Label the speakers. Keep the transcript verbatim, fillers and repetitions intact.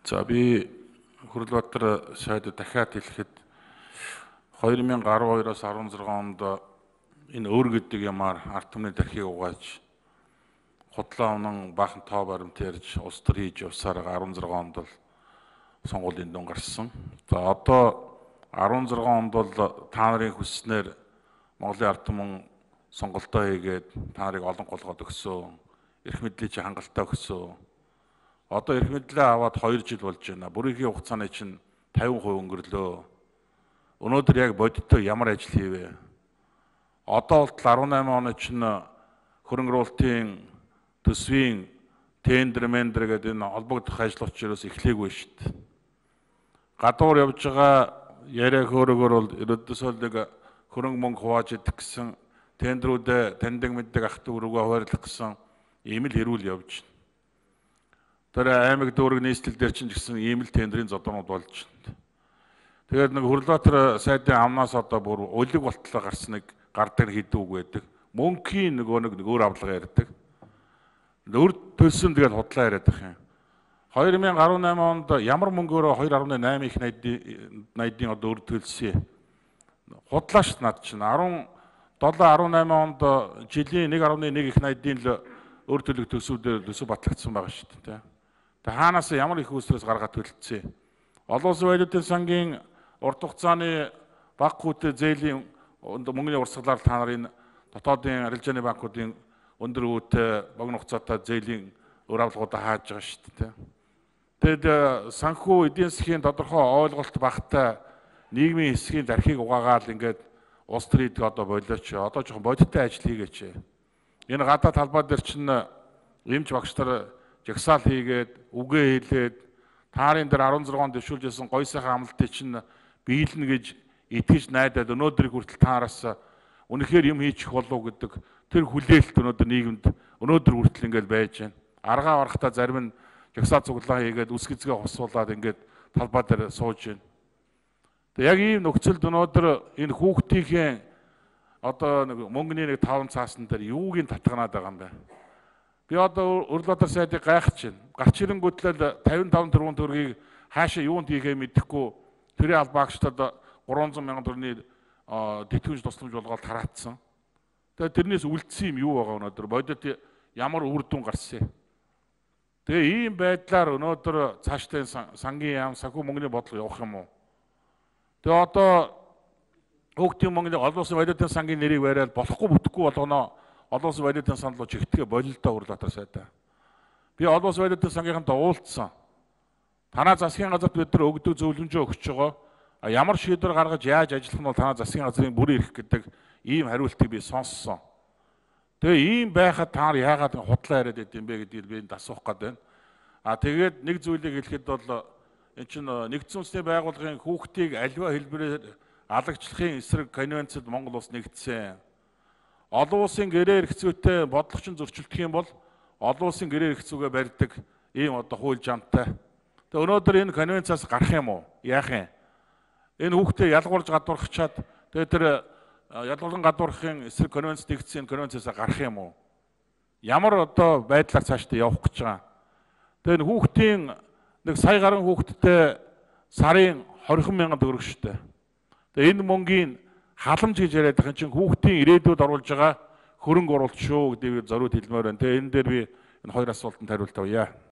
Speaker 1: За би Хүрлбаатар сайд дахиад хэлэхэд две тысячи двадцать двоос16 онд энэ өөр гэдэг юмар ард түмний тархийг угааж худлаа унан баахан тоо баримт ярьж улс төр хийж явсаар16 онд бол сонгуулийн дүн гарсан. За одоо16 онд бол та нарын хүсснээр Монголын ард түмэн сонголтоо хийгээд та нарыг олон голгоод өгсөн. Эрх мэдлийг чи хангалттай өгсөн. Одоо эрх мэдлээ аваад хоёр жил болж байна. Бүрийнхээ хугацааны чинь пятьдесят процент өнгөрлөө. Өнөөдөр яг бодиттой ямар ажил хийвэ? Одоо бол деснайман оны чинь хөрөнгө оруулалтын төсвийн тендер мендер гэдэг энэ холбогдох ажлууч ерөөс эхлэегүй шүү дээ. Гадуур явж байгаа яриа хөөрөгөр бол ерөөдөөсөө нэг хөрөнгө мөнгө хувааж идэх гэсэн тендерүүдэд таньдаг мэддэг ах дүү рүүгээ хуваарлах гэсэн ийм л хэрүүл явж байна. Тэр аймаг дүүрэг нийслэл дээр чинь гэсэн ийм л тендерийн зодонууд болж байна. Тэгээд нэг Хүрлбаатар сайдын амнаас одоо бүр улиг болтлоо гарсныг гардаг хийдэг үг байдаг. Мөнхийн нөгөө нэг өөр авлага ярьдаг. Өөр төлсөн тэгээд худлаа яриад байх юм. две тысячи десятнайман онд ямар мөнгөөрөө two point eight их найдын одоо өөр төлсөн. Худлааш над чинь seven десайман онд жилийн one point one их найдын л өөр төлөв төсвүүдээр төсөв батлагдсан байгаа шүү дээ. Тэгээ хаанаас ямар их үүсрээс гаргаад төлөлдсөн. Олон улсын баялагдсан сангийн урт хугацааны банкуудын зээлийн мөнгөний урсгалаар та нарын дотоодын арилжааны банкуудын өндөр өвөтэй богино хугацаатай зээлийн өр авлагуудаа хааж байгаа шүү дээ. Тэгэд санхүү эдийн засгийн тодорхой ойлголт багтай нийгмийн хэсгийн дархийг угаагаал ингээд улс төрийг одоо болооч. Одоо жоохон бодиттой ажил хийгээч. Энэ гадаад талбай дээр чинь эмч багш нар жагсаал хийгээд үгээ хэлээд таарын дээр16онд дэвшүүлж байсан гой сайхан амлалтыг чинь биелнэ гэж итгэж найдаад өнөөдрийг хүртэл таараас үнэхээр юм хийчих болов гэдэг тэр хүлээлт өнөөдөр нийгэмд өнөөдөр хүртэл ингээд байж байна. Аргаа барахтаа зарим нь жагсаал цуглаа хийгээд үс гизгээ хосуулаад ингээд талбай дээр сууж байна. Тэг яг ийм нөхцөлд өнөөдөр энэ хүүхдийн одоо нэг мөнгөний нэг таван цаасан дээр юуг нь татганаад байгаа юм бэ? Би одоо Хүрлбаатар сайдыг гайхаж байна. Гарч ирэнгүүтлэл fifty-five тэрбум төгрөгийг хаашаа юунд хийхээ мэдэхгүй тэрийн албаагчдад three hundred мянган төгрөний тэтгэвч тусламж болгоод тараацсан. Тэгээд тэрнээс үлдсэн юм юу байгаа өнөөдөр? Бодит ямар үр дүн гарсан. Тэгээ ийм байдлаар өнөөдөр цаашдаа сангийн яам санхүү мөнгөний бодлого явах юм уу? Тэгээ одоо хүүхдийн мөнгөний олон улсын баялагдсан сангийн нэрийг бариад болохгүй бүтэхгүй болгоно. Олон улсын баялагдсан сан руу чигтгээ болилдоо Хүрлбаатар сайдаа. Би олон улсын баялагдсан сангийнхантай уулзсан. Танаа засгийн газарт бид нар өгдөг зөвлөмжөө өгч байгаа. А ямар шийдвэр гаргаж яаж ажиллах нь бол танаа засгийн газрын бүр ирэх гэдэг ийм хариултыг би сонссон. Тэгээ ийм байхад та нар яагаад худлаа яриад байд юм бэ гэдгийг би энд асуух гээд байна. А тэгээд нэг зүйлийг хэлэхэд бол энэ чинь нэгдсэн улсны байгууллагын хүүхдийг аливаа хэлбэрээр алагчлахын эсрэг конвенцэд Монгол улс нэгдсэн. Олон улсын гэрээ эрхцүүтэй бодлогочин зөрчилдөх юм бол олон улсын гэрээ эрхцүүгээ барьдаг ийм одоо хууль жамтай. Тэгээ өнөөдөр энэ конвенцаас гарах юм уу? Яах юм? Энэ хүүхдээ ялгуурж гадуурхачаад тэгээ тэр ялгуулган гадуурхахын эсрэг конвенц нэгдсэн конвенцээс гарах юм уу? Ямар одоо байдлаар цаашдаа явах гэж байгаа? Тэгээ энэ хүүхдийн нэг сая гаруй хүүхэдтэй сарын twenty мянган төгрөг шүү дээ. Тэгээ энэ мөнгийн халамж гэж яриад байгаа чинь хүүхдийн ирээдүйд оруулж байгаа хөрөнгө оруулалт шүү гэдгийг зориуд хэлмээр байна. Тэгээ энэ дээр би энэ хоёр асуултанд хариулт авъя.